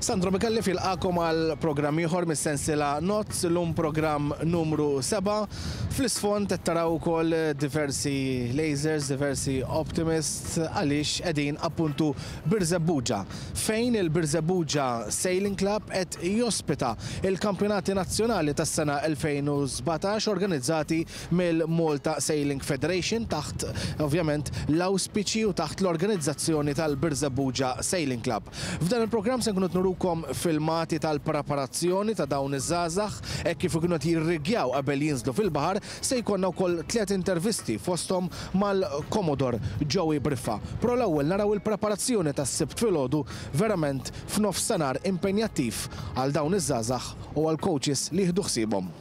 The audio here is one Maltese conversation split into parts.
Sandro Micallef jilqagħkom għal programm ieħor mis-sensiela Nozz, illum programm numru 7. Fl-isfond qed taraw ukoll diversi lasers, diversi optimists għaliex qegħdin appuntu Birżebbuġa, fejn il-Birżebbuġa Sailing Club qed jospita il-Kampjonati Nazzjonali tas-sena 2017 organizzati mill-Malta Sailing Federation taħt ovvjament l-awspiċi u taħt l-organizzazzjoni tal-Birżebbuġa Sailing Club. F'dan il-programm se nkunu qed nurukom filmati tal-preparazzjoni ta' dawn iż-żgħażagħ hekk kif ikunu qed jirriggjaw qabel jinżlu fil-baħar, se jkollna wkoll tliet intervisti fosthom mal-Commodore Joey Briffa. Pro l-ewwel naraw il-preparazzjoni tas-Sibt filgħodu verament f'nofstanhar impenjattiv għal dawn iż-żgħażagħ u għall-coaches li jieħdu ħsiebhom.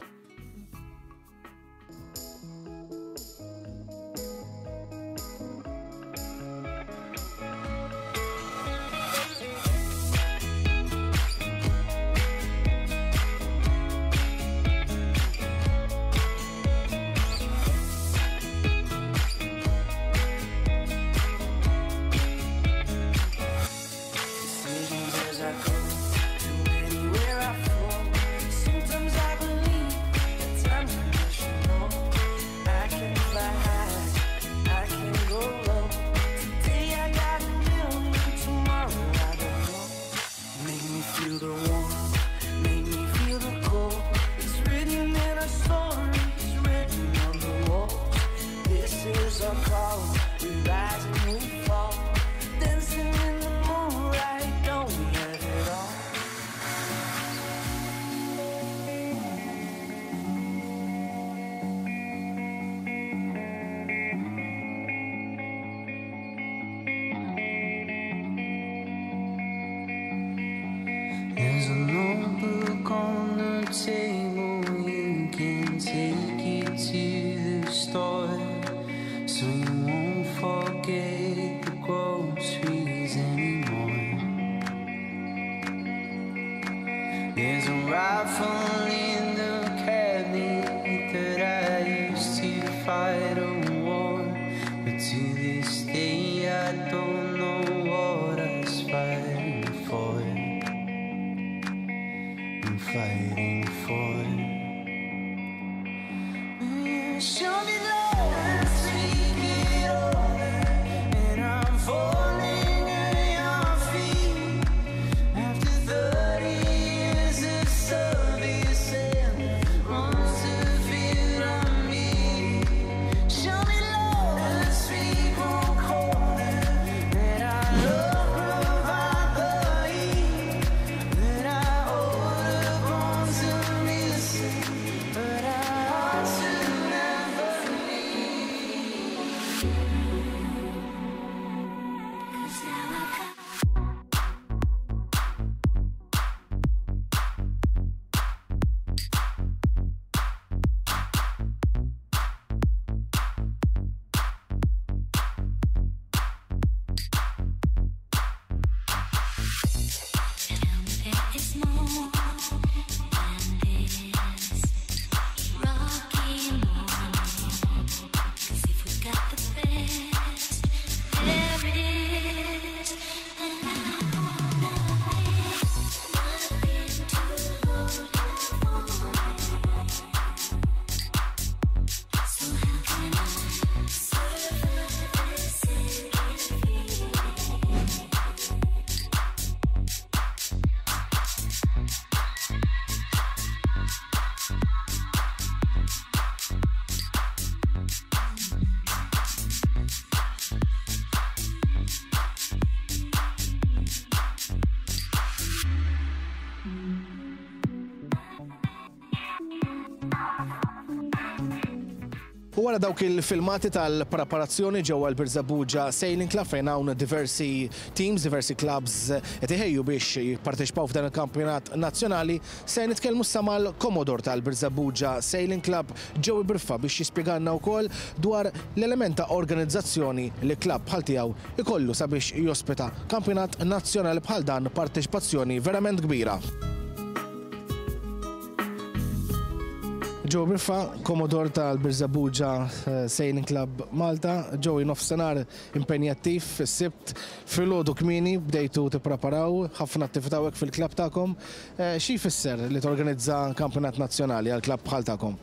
There's a notebook on the table, you can take it to the store so you won't forget the groceries anymore. There's a rifle in the cabinet that I used to fight a war, but to this day I don't know what I was fighting for. I'm fighting for. You show me love, take it all, and I'm falling at your feet. After 30 years of service and months of fear on me, show me love, sweet corner that our love provide the heat that I order born to miss, but I ought to never leave. Cause now I've got Tell me there is more than this rocky morning. 'Cause if we got the best, there is, then I want nothing to hold for me. So how can I survive this sinking feeling? U wara dawk il-filmati tal-preparazzjoni ġewwa l-Birżebbuġa Sailing Club fejn hawn diversi teams, diversi clubs qed iħejju biex jipparteċipaw f'dan il-kampjonat nazzjonali, se nitkellmu issa mal-Commodore tal-Birżebbuġa Sailing Club Joey Briffa biex jispjegalna wkoll dwar l-element ta' organizzazzjoni li klabb bħal tiegħu ikollu sabiex jospita kampjonat nazzjonali bħal dan b'parteċipazzjoni verament kbira. Joe Briffa, Commodore tal-Birżebbuġa Sailing Club Malta. Joey, nofsinhar impenjattiv is-Sibt filgħodu kmieni bdejtu tippreparaw ħafna attività hawnhekk fil-klabb tagħkom. Xi jfisser li torganizza kampjonat nazzjonali għal klabb bħal tagħkom?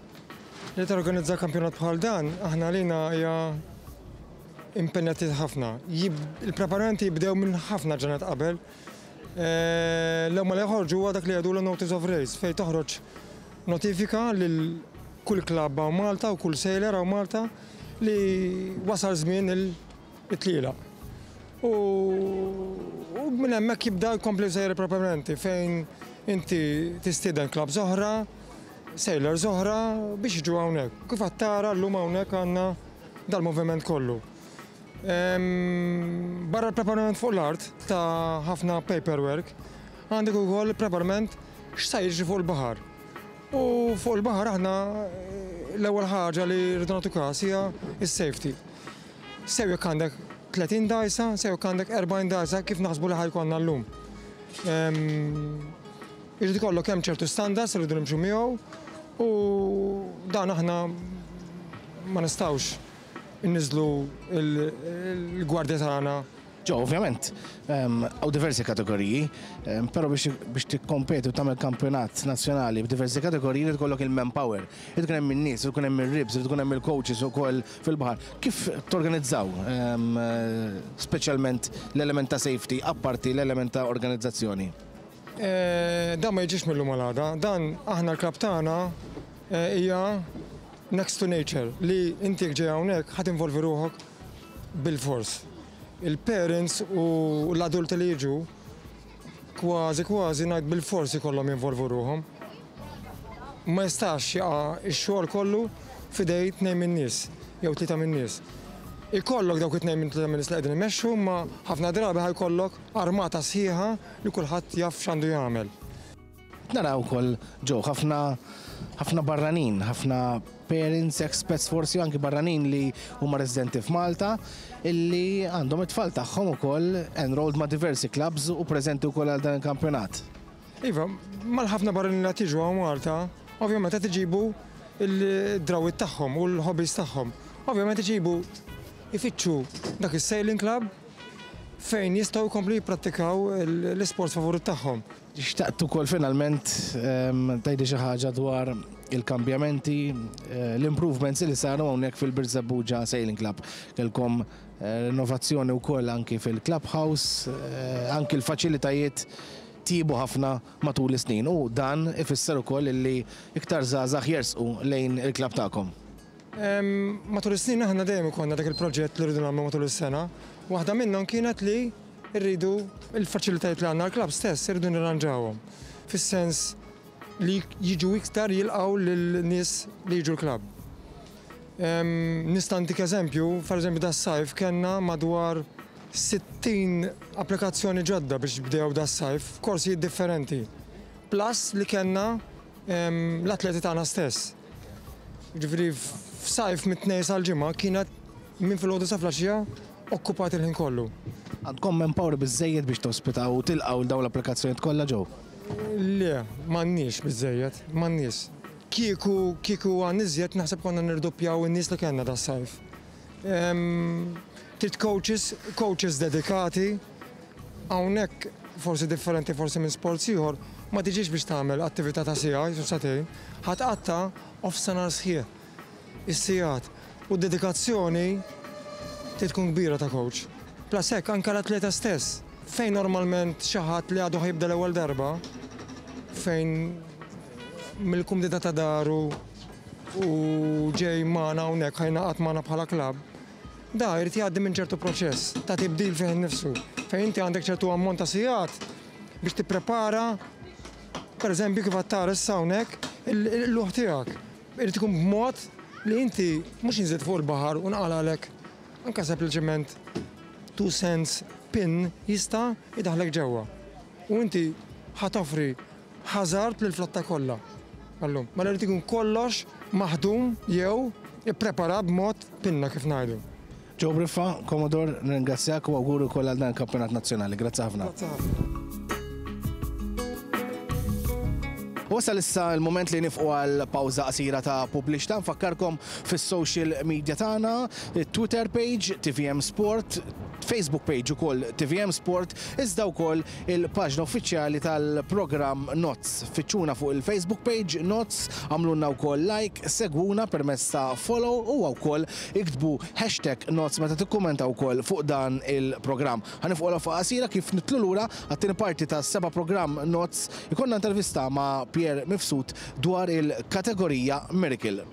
Li torganizza kampjonat bħal dan, aħna għalina hija impenjattiv ħafna. Il-preparamenti jibdew minn ħafna ġranet qabel. L-ewwel ma joħorġu huwa dak li jgħidulu notice of race fejn toħroġ notifika lil kull klabb hawn Malta u kull sailor hawn Malta li wasal żmien it-tlielaq. U minn hemmhekk jibda jkompli sejjer il-preparamenti fejn inti tistieden klabbs oħra, sailors oħra biex jiġu hawnhekk. Kif qed tara llum hawnhekk għandna dal-moviment kollu. Barra l-preparament fuq l-art ta' ħafna paperwork, għandek ukoll preparament x'sa jiġri fuq il-baħar. U fuq il-baħar aħna l-ewwel ħaġa li rridu nagħtu każ hija s-safety. Sew jekk għandek 30 dgħajsa, sew jekk għandek 40 dgħajsa kif naħsbu li ħa jkollna llum. Irid ikollok hemm ċertu standards li rridu nimxu miegħu u dan aħna ma nistgħux inniżlu l-gwardja tagħna. Ġo, ovvjament, hawn diversi kategoriji, però biex tikkompeti u tagħmel kampjonat nazzjonali b'diversi kategoriji irid ikollok il-manpower, irid ikun hemm in-nies, irid ikun hemm ir-ribs, irid ikun hemm il-coaches ukoll fil-baħar. Kif torganizzaw speċjalment l-element ta' safety apparti l-element ta' organizzazzjoni? Dan ma jiġix mil-lum għal għada, dan aħna l-klabb tagħna hija next to nature li inti jekk ġej hawnhekk ħa tinvolvi ruħok bilfors. Il-parents u l-adulti li jiġu kważi kważi ngħid bilfors ikollhom jinvolvu ruħhom. Ma jistax jaqa' x-xogħol kollu f'idej tnejn min-nies jew tlieta min-nies. Ikollok dawk it-tnejn minn tlieta min-nies li qegħdin imexxu imma ħafna drabi ħa jkollok armata sħiħa li kulħadd jaf x'għandu jagħmel. Naraw ukoll ġew ħafna ħafna barranin, ħafna parents, expats forsi anki barranin li huma residenti f'Malta illi għandhom it-tfal tagħhom ukoll enrolled ma' diversi clubs u preżenti wkoll għal dan il-kampjonat. Iva, mal-ħafna barranin li qed jiġu hawn Malta, ovvjament qed iġibu l-drawwiet tagħhom u l-hobbies tagħhom. Ovvjament iġibu ifittxu dak is-sailing club fejn jistgħu jkomplu jipprattikaw l-isports favorit tagħhom. Xtaqt ukoll finalment tgħidli xi ħaġa dwar il-kambjamenti, l-improvements li saru hawnhekk fil-Birżebbuġa Sailing Club. Kellkom rinnovazzjoni wkoll anki fil-clubhouse, anki l-faċilitajiet tjiebu ħafna matul is-snin u dan ifisser ukoll illi iktar żgħażagħ jersqu lejn il-klabb tagħkom. Matul is-snin aħna dejjem ikollna dak il-proġett li rridu nagħmlu matul is-sena. Waħda minnhom kienet li rridu l-faċilitajiet li għandna l-klabb stess irridu nirranġawhom. Fis-sens li jiġu iktar jilqgħu lil nies li jiġu l-klabb. Nista' ntik eżempju, pereżempju das-sajf kellna madwar 60 applikazzjoni ġodda biex bdew das-sajf f'korsijiet differenti. Plus li kellna l-atleti tagħna stess. Ġifieri f'sajf mit-Tnejn sal-Ġimgħa kienet minn filgħodu sa filgħaxija okkupat il-ħin kollu. Għandkom manpower biżżejjed biex tospitaw u tilqgħu dawn l-applikazzjonijiet kollha ġew? Le, m'għandniex biżżejjed, m'għandniex. Kieku kieku għandna iżjed naħseb konna nirdoppjaw in-nies li kellna das-sajf. Trid coaches, coaches dedikati, hawnhekk forsi differenti forsi minn sports ieħor, ma tiġix biex tagħmel attività ta' siegħa jew sagħtejn, ħa tqatta' nofsinhar sħiħ. Is-sigħat u d-dedikazzjoni trid tkun kbira ta' coach. Plus hekk anke l-atleta stess, fejn normalment xi ħadd li għadu ħa jibda l-ewwel darba, fejn mill-kumdità ta' daru u ġej magħna hawnhekk ħa jingħaqad magħna bħala klabb, da jrid jgħaddi minn ċertu proċess ta' tibdil fih innifsu, fejn inti għandek ċertu ammont ta' sigħat biex tipprepara pereżempju kif qed tara issa hawnhekk il-luħ tiegħek. Irid ikun b'mod li inti mhux inżilt fuq il-baħar u nqalalek anke sempliċement 2 cents pin jista' jdaħħlek ġewwa. U inti ħa toffri hazard lill-flotta kollha. Allum, mela jrid ikun kollox maħdum jew ippreparat b'mod pinna kif ngħidu. Joe Briffa, Commodore, nirringrazzjak u awguri wkoll għal dan il-Kampjonat Nazzjonali. Grazzi ħafna. Grazzi ħafna. Wasal issa l-mument li nifqu għal pawża qasira ta' pubbliċità. Nfakkarkom fis-social media tagħna, Twitter page TVM Sport, Facebook page ukoll TVM Sport, iżda wkoll il-paġna uffiċjali tal-programm Nozz. Fittxuna fuq il-Facebook page Nozz, għamlulna wkoll like, segwuna permezz ta' follow u wkoll iktbu hashtag Nozz meta tikkummentaw ukoll fuq dan il-programm. Ħa nifqu għal qasira kif nitlu lura għat-tieni parti tas-seba' programm Nozz ikollna intervista ma' Pierre Mifsud dwar il-kategorija Miracle.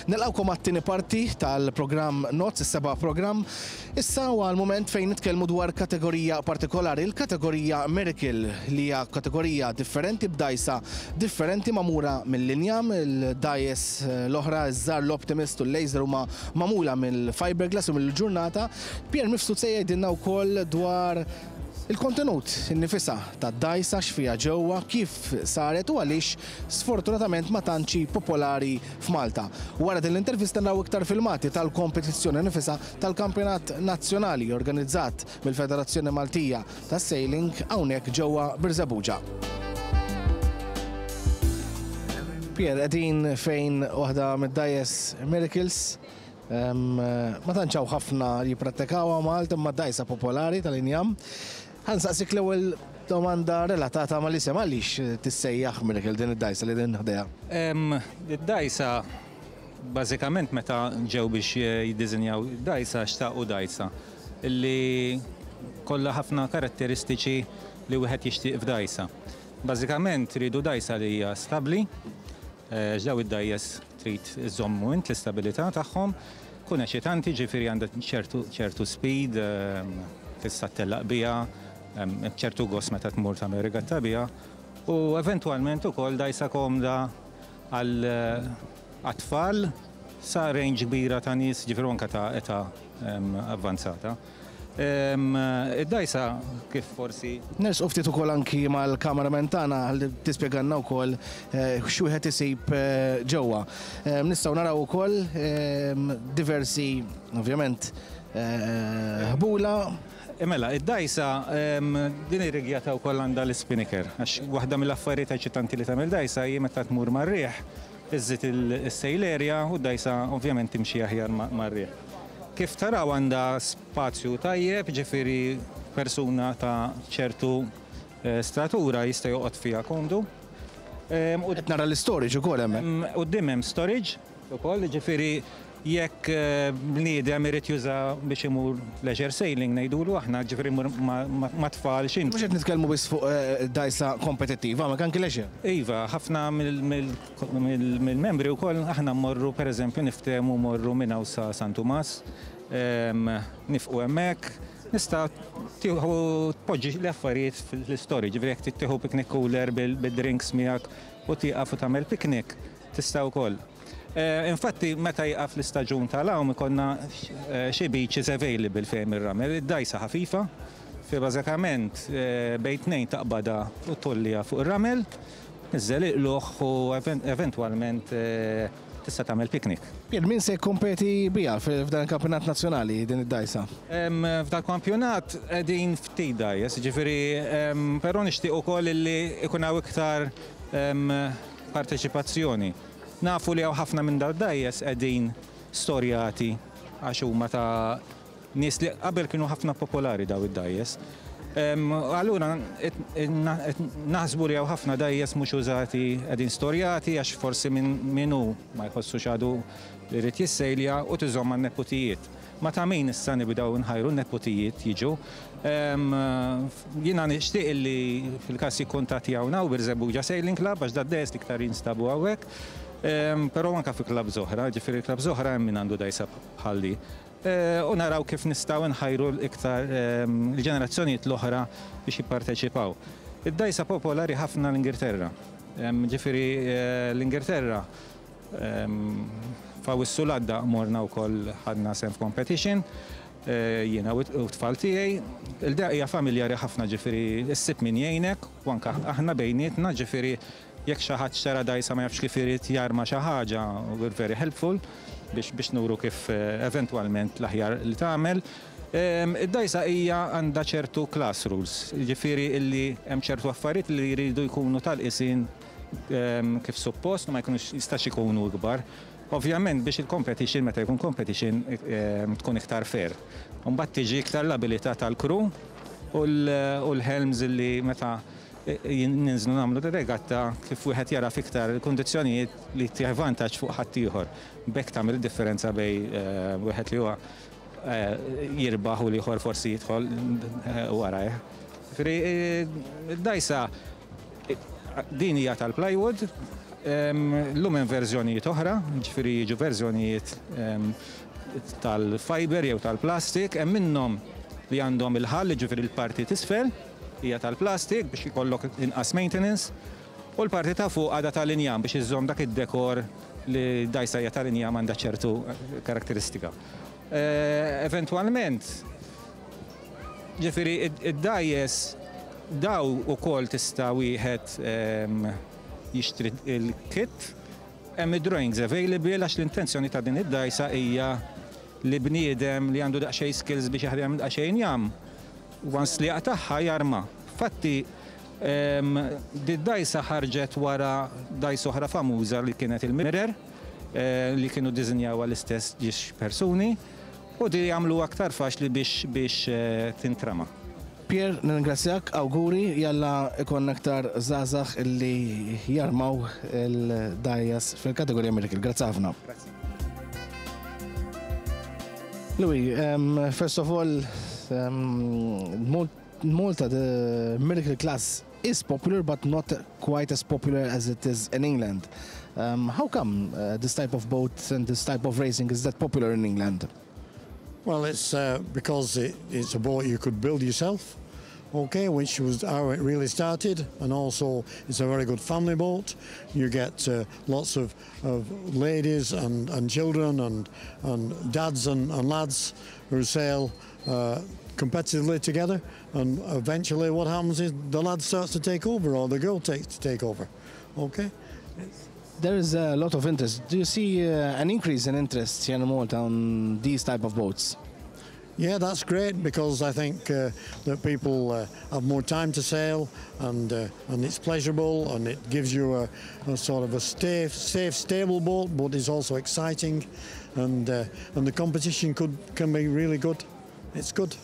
Nilqawkom għat-tieni parti tal-programm Nozz, is-seba' programm. Issa huwa l-mument fejn nitkellmu dwar kategorija partikolari, il-kategorija Miracle, li hija kategorija differenti b'dajsa differenti magħmula mill-injam, il-dgħajjes l-oħra, iż-żgħar, l-Optimist u l-Laser huma magħmula mill-fiberglass u mill-ġurnata. Pierre Mifsud se jgħidilna wkoll dwar il-kontenut innifisha tad-dgħajsa, x'fiha ġewwa, kif saret u għaliex sfortunatament ma tantx hi popolari f'Malta. Wara din l-intervista naraw iktar filmati tal-kompetizzjoni nifisha tal-Kampjonat Nazzjonali organizzat mill-Federazzjoni Maltija tas-Sailing hawnhekk ġewwa Birżebbuġa. Pierre, qegħdin fejn waħda mid-dgħajjes Miracles. Ma tantx hawn ħafna li jipprattikawha Malta imma dgħajsa popolari tal-injam. Ħa nsaqsik l-ewwel domanda relatata mal-isem għaliex tissejjaħ Miracle din id-dgħajsa li din ħdejha? Id-dgħajsa bażikament meta ġew biex jiddiżinjaw id-dgħajsa xtaqu dgħajsa li kollha ħafna karatteristiċi li wieħed jixtieq f'dgħajsa. Bażikament riedu dgħajsa li hija stabbli, għax daw id-dgħajjes trid iżommu int l-istabilità tagħhom, tkun eċitanti, ġifieri għandha ċertu speed, tista' ttellaq biha, ċertu gost meta tmur tagħmel regatta biha, u eventwalment ukoll dgħajsa komda għal tfal sa range kbira ta' nies, ġifieri anke ta' età avvanzata. Id-dgħajsa kif forsi. Nersqu ftit ukoll anki mal-cameraman tagħna ħalli tispjegalna wkoll x'wieħed isib ġewwa. Nistgħu naraw ukoll diversi ovvjament ħbula. Mela, id-dgħajsa din ir-rigjata wkoll għandha l-spinnaker għax waħda mill-affarijiet eċitanti li tagħmel dgħajsa hi meta tmur mar-riħ iżżid is-sail area u d-dgħajsa ovvjament timxi aħjar mar-riħ. Kif taraw għandha spazju tajjeb, ġifieri persuna ta' ċertu statura jista' joqgħod fiha komdu. Qed nara l-istorage ukoll hemmhekk. Quddiem hemm storage ukoll, ġifieri jekk bniedem irid juża biex imur leisure sailing ngħidulu aħna, ġifieri imur ma' tfal xi. Mhux qed nitkellmu biss fuq dgħajsa kompetittiva, ma anki leisure. Iva, ħafna mill-membri wkoll aħna mmorru pereżempju niftehmu mmorru minn hawn sa San Tumas, nifqu hemmhekk, nista' tieħu tpoġġi l-affarijiet fl-istorage, ġifieri jekk trid tieħu picnic cooler bid-drinks miegħek u tieqaf u tagħmel picnic, tista' wkoll. Infatti meta jieqaf l-istaġun tal-għawm ikollna xi beaches available fejn ir-ramel, id-dgħajsa ħafifa, fi bażikament bejn tnejn taqbadha u tgħolliha fuq ir-ramel, niżżel il-qlugħ u eventwalment tista' tagħmel picnic. Pier, min se jikkompeti biha f'dan il-kampjonat nazzjonali din id-dgħajsa? F'dan il-kampjonat qegħdin ftit dgħajjes, jiġifieri però nixtieq ukoll li jkun hawn iktar parteċipazzjoni. Nafu li hawn ħafna minn dal-dgħajjes qegħdin storjati għax huma ta' nies li qabel kienu ħafna popolari daw id-dgħajjes. Allura naħsbu li hawn ħafna dgħajjes mhux użati qegħdin storjati għax forsi min hu ma jħossux għadu li jrid jissejlja u tiżomm għan-neputijiet. Ma ta' min issa nibdew nħajru n-neputijiet jiġu. Jiena nixtieq li fil-każ jikkuntattjawna hawn Birżebbuġa Sailing Club għax dad-dgħajjes l-iktar jinstabu hawnhekk. Però anke fi clubs oħra, ġifieri clubs oħra hemm min għandu dgħajsa bħal di. U naraw kif nistgħu nħajru iktar l-ġenerazzjonijiet l-oħra biex jipparteċipaw. Id-dgħajsa popolari ħafna l-Ingilterra. Ġifieri l-Ingilterra f'Awwissu l-għadda morna wkoll ħadna sehem f'competition. Jiena u t-tfal tiegħi. Il-dea hija familjari ħafna ġifieri ssib min jgħinek u anke aħna bejnietna ġifieri jekk xi ħadd xtara dgħajsa ma jafx kif irid jarma xi ħaġa, we're very helpful biex nuru kif eventwalment l-aħjar li tagħmel. Id-dgħajsa hija għandha ċertu class rules, jiġifieri illi hemm ċertu affarijiet li jridu jkunu tal-qisien kif suppost u ma jkunux jistax ikunu ikbar. Ovvjament biex il-competition meta jkun competition tkun iktar fair. Mbagħad tiġi iktar l-abilità tal-crew u l-helms illi meta ninżlu nagħmlu regatta kif wieħed jara fiktar il-kundizzjonijiet li tih vantaġġ fuq ħaddieħor. B'hekk tagħmel id-differenza bejn wieħed li huwa jirbaħ u l-ieħor forsi jidħol warajh. Ġifieri d-dgħajsa din hija tal-plywood, llum hemm verżjonijiet oħra, ġifieri jiġu verżjonijiet tal-fiber jew tal-plastik, hemm minnhom li għandhom il-ħall, ġifieri l-parti t'isfel hija tal-plastik biex ikollok inqas maintenance, u l-parti ta' fuq għadha tal-injam biex iżżomm dak id-dekor li dgħajsa hija tal-injam għandha ċertu karakteristika. Eventwalment, ġifieri id-dgħajjes daw ukoll tista' wieħed jixtri il-kit, hemm id-drawings available għax l-intenzjoni ta' din id-dgħajsa hija li bniedem li għandu daqsxejn skills biex jaħdem daqsxejn injam, once li jaqtagħha jarma. Fatti, di-dgħajsa ħarġet wara dgħajsa oħra famuża li kienet il-Mirror, li kienu ddisinjawha l-istess ġiex persuni, u di jagħmlu aktar faċli biex tintrama. Pierre, nirringrazzjak, awguri, jalla ikonna aktar żgħażagħ illi jarmaw il-dgħajjes fil-kategorija Miracle. Grazzi ħafna. Grazzi. Louis, first of all, Malta, the Miracle class is popular, but not quite as popular as it is in England. How come this type of boat and this type of racing is that popular in England? Well, it's because it's a boat you could build yourself, okay, which was how it really started, and also it's a very good family boat. You get lots of ladies and children and dads and lads who sail competitively together, and eventually what happens is the lad starts to take over, or the girl takes to take over, okay? There is a lot of interest. Do you see an increase in interest here in Malta on these type of boats? Yeah, that's great, because I think that people have more time to sail, and it's pleasurable, and it gives you a sort of a safe, stable boat, but it's also exciting, and the competition can be really good. It's good.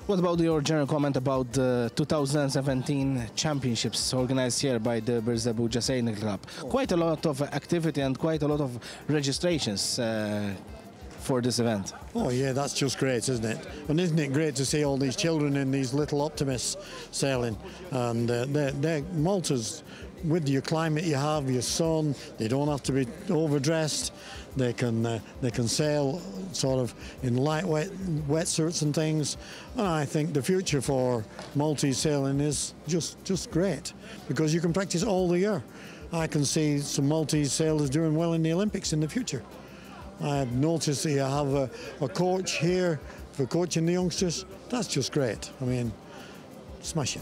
What about your general comment about the 2017 championships organized here by the Birżebbuġa Sailing Club? Quite a lot of activity and quite a lot of registrations for this event. Oh yeah, that's just great, isn't it? And isn't it great to see all these children in these little Optimists sailing? And they're Malta's, with your climate you have, your sun, they don't have to be overdressed. They can sail sort of in lightweight wetsuits and things. And I think the future for Maltese sailing is just great, because you can practice all the year. I can see some Maltese sailors doing well in the Olympics in the future. I've noticed that you have a coach here for coaching the youngsters. That's just great. Smashing.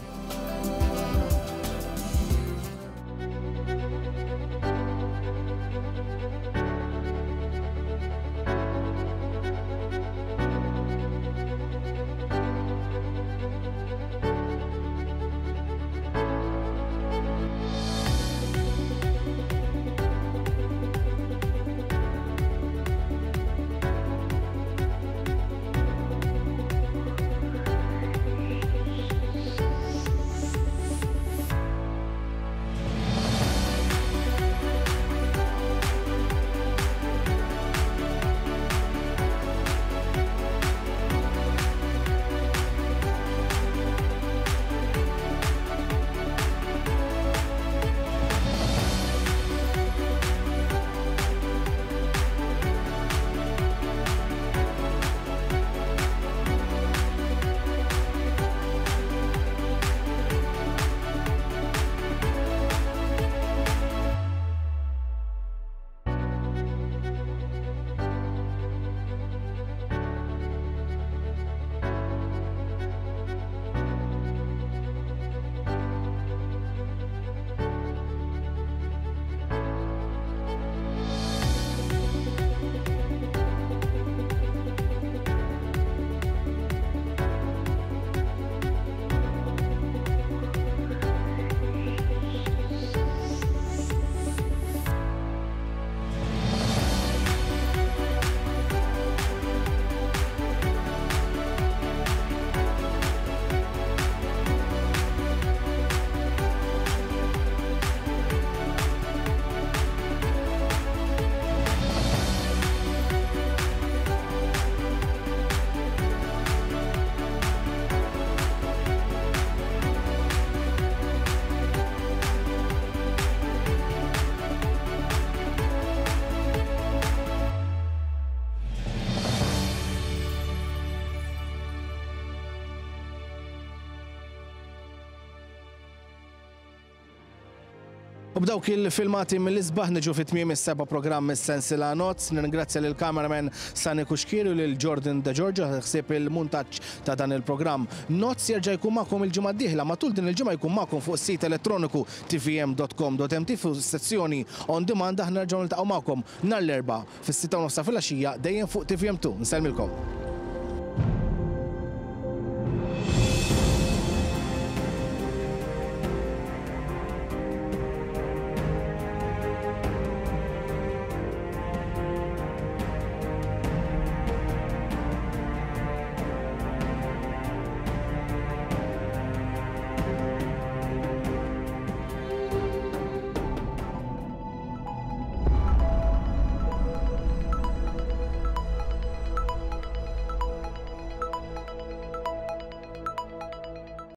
U b'dawk il-filmati mill-isbaħ niġu fi tmiem is-seba' programm mis-sensiela Nozz. Nirringrazzja lil cameraman Sani Kuxkieri u lil Jordan De Giorgio ħsieb il-muntaġġ ta' dan il-programm. Nozz jerġa' jkun magħkom il-ġimgħa d-dieħla. Matul din il-ġimgħa jkun magħkom fuq is-sit elettroniku tvm.com.mt fuq sezzjoni on demand. Aħna nerġgħu niltaqgħu magħkom nhar l-Erbgħa fis-6:30 filgħaxija dejjem fuq TVM2. Nsellmilkom.